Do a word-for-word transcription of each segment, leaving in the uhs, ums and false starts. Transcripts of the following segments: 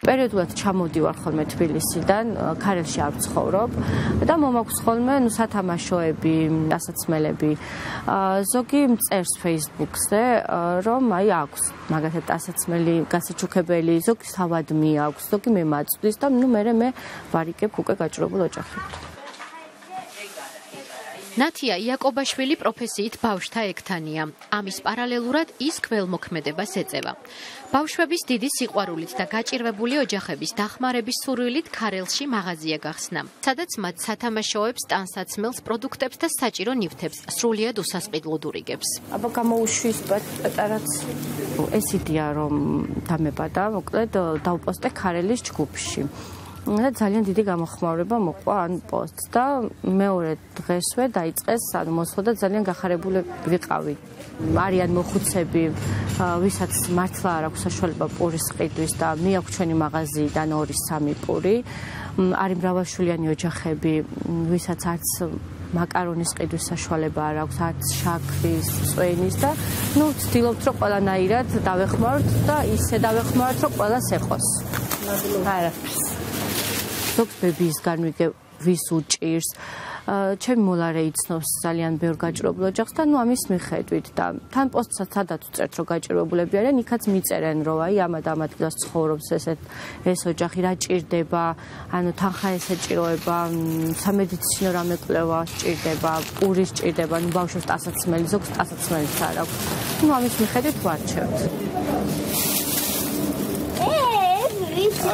პერიოდულად ჩამოდივარ ხოლმე თბილისიდან, ქარელში არ ვცხოვრობ და მომაქვს ხოლმე ნუ სათამაშოები, ასაცმელები. ზოგი მწერს Facebook-ზე, რომ აი აქვს მაგათად ასაცმელი, გასაჩუქებელი, ზოგი თავადმი აქვს, ზოგი მე მაწვდის და ნუ მე მე ვარიგებ უკვე გაჭირებულ ოჯახებთან. ნათია იაკობაშვილი პროფესიით ბავშვთა ექთანია. ამის პარალელურად ის ქველმოქმედებას ეწევა. ბავშვების დიდი სიყვარულით და გაჭირვებული ოჯახების დახმარების სურვილით ქარელში მაღაზია გახსნა, სადაც მათ სათამაშოებს, ტანსაცმელს, პროდუქტებს და საჭირო ნივთებს სრულიად უსასყიდლოდ ურიგებს. აბა გამოუშვის პატარაც ეს იდეა რომ დამებადა, მოკლედ დავპოსტე ქარელის ჯგუფში. და ძალიან დიდი გამოხმაურება მოყვა ან პოსტს და მეორე დღესვე დაიწყეს ანუ მოსვლა და ძალიან გახარებული ვიყავი. არიან მოხუცები, ვისაც მართლა არ აქვს საშუალება პურის ყიდვის და მიაქვს ჩვენი მაღაზიიდან ორი სამი პური. არის მრავალშვილიანი ოჯახები, ვისაც არც მაკარონის ყიდვის საშუალება არ აქვს, არც შაქრის, წვენის და ნუ ვცდილობთ რომ ყველანაირად დავეხმაროთ და ისე დავეხმაროთ რომ ყველას ეყოს. არა. ზოგს ბებიისგან ვიგებ ვის უჭირს. ჩემი მოლარე იცნობს ძალიან ბევრ გაჭირებულ ოჯახს და ნუ ამის მიხედვით და თან პოსტსაც სადაც უწერთ რომ გაჭირებულები არიან, იქაც მიწერენ რომ აი ამ და ამ ადგილას ცხოვრობს ესეთ ეს ოჯახი, რა ჭირდება, ანუ თანხა ესეჭიროება, სამედიცინო რამე კვლევა სჭირდება, პური სჭირდება, ნუ ბავშვებს ტანსაცმელი, ზოგს ტანსაცმელიც არ აქვს. ნუ ამის მიხედვით ვარჩევთ.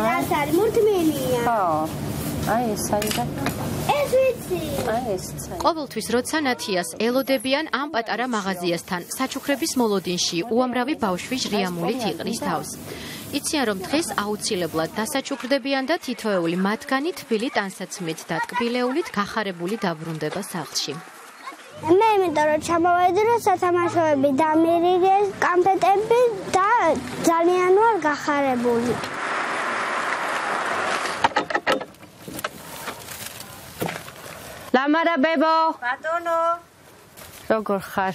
ეს არის მურთმენია. ხო. აი ეს არის და ეს ვიცი. აი ეს. ყოველთვის როცა ნათიას ელოდებიან ამ პატარა მაღაზიასთან, საჩუქრების მოლოდინში უამრავი ბავშვი ჟრიამულით იყრის თავს. იციან რომ დღეს აუცილებლად დასაჩუქრდებიან და თითოეული მათგანი თბილი ტანსაცმლით და ტკბილეულით გახარებული დაბრუნდება სახლში. მე იმიტომ რომ ჩამოვედი რომ სათამაშოები დამირიგეს, კამპეტები და ძალიან ვარ გახარებული. ლამარა ბებო. ბატონო. როგორ ხარ?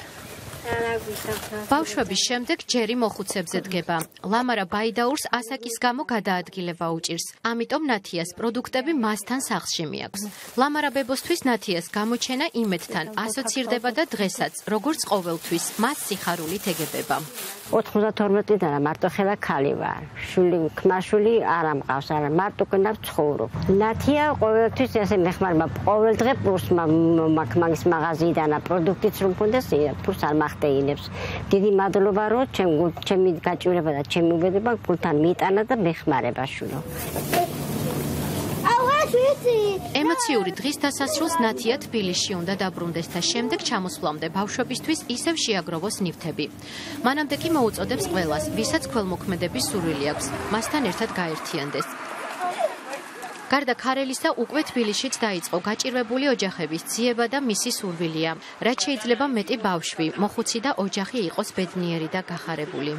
ბავშვების შემდეგ ჯერი მოხუცებზე დგება. ლამარა ბაიდაურს ასაკის გამო გადაადგილება უჭირს. ამიტომ ნათიას პროდუქტები მასთან სახლში მიაქვს. ლამარა ბებოსთვის ნათიას გამოჩენა იმედთან ასოცირდება და დღესაც, როგორც ყოველთვის, მას სიხარულით ეგებება. ოთხმოცდათორმეტიდან მარტო ხელა ქალი ვარ. შვილი, ქმარშვილი არ ამყავს, არა მარტო კენა ვცხოვრობ. ნათია ყოველთვის ესე მეხმარება. ყოველ დღე პურს მაგის მაღაზიიდან პროდუქტიც რომ მქონდეს, პურს არ მახტეინებს. დიდი მადლობა რომ ჩემი გაჭირება და ჩემი უბედება გულთან მიიტანა და მეხმარება შვილო. ემოციური დღის დასასრულს ნათია თბილისში უნდა დაბრუნდეს და შემდეგ ჩამოსვლამდე ბავშვებისთვის ისევ შეაგროვოს ნივთები. მანამდე კი მოუწოდებს ყველას, ვისაც ქველმოქმედების სურვილი აქვს, მასთან ერთად გაერთიანდეს. გარდა ქარელისა უკვე თბილისშიც დაიწყო გაჭირვებული ოჯახების ძიება და მისი სურვილია, რაც შეიძლება მეტი ბავშვი, მოხუცი და ოჯახი იყოს ბედნიერი და გახარებული.